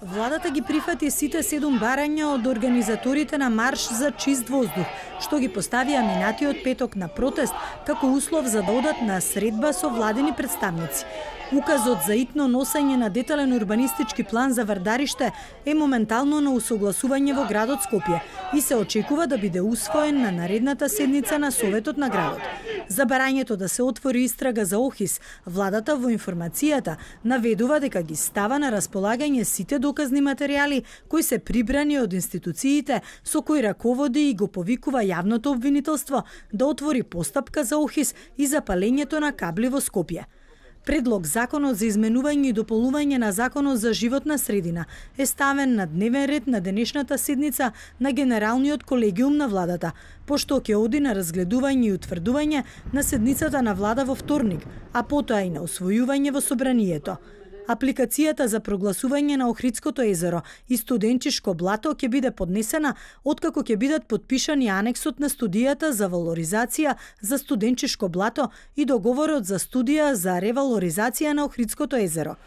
Владата ги прифати сите 7 барања од организаторите на Марш за чист воздух, што ги поставија минатиот петок на протест како услов за да одат на средба со владени представници. Указот за итно носење на детален урбанистички план за Вардариште е моментално на усогласување во градот Скопје и се очекува да биде усвоен на наредната седница на Советот на градот. За барањето да се отвори истрага за Охрис, владата во информацијата наведува дека ги става на располагање сите доказни материјали кои се прибрани од институциите со кои раководи и го повикува јавното обвинителство да отвори постапка за Охрис и за палењето на кабли во Скопје. Предлог законот за изменување и дополнување на законот за животна средина е ставен на дневен ред на денешната седница на Генералниот колегиум на владата, пошто ќе оди на разгледување и утврдување на седницата на влада во вторник, а потоа и на усвојување во собранието. Апликацијата за прогласување на Охридското езеро и студенчишко блато ќе биде поднесена откако ќе бидат подпишани анексот на студијата за валоризација за студенчишко блато и договорот за студија за ревалоризација на Охридското езеро.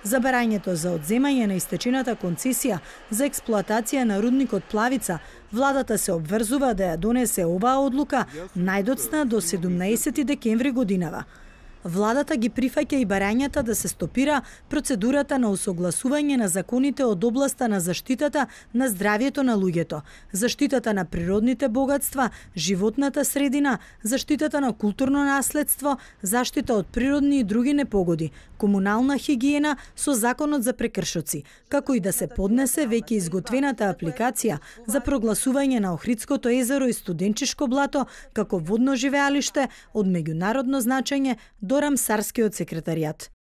За барањето за одземање на истечената концесија за експлоатација на рудникот Плавица, владата се обврзува да ја донесе оваа одлука најдоцна до 17 декември годинава. Владата ги прифаќа и барањата да се стопира процедурата на усогласување на законите од областа на заштитата на здравјето на луѓето, заштитата на природните богатства, животната средина, заштитата на културно наследство, заштита од природни и други непогоди, комунална хигиена со законот за прекршоци, како и да се поднесе веќе изготвената апликација за прогласување на Охридското езеро и студенчишко блато како водно живеалиште од меѓународно значење до Рамсарскиот секретаријат.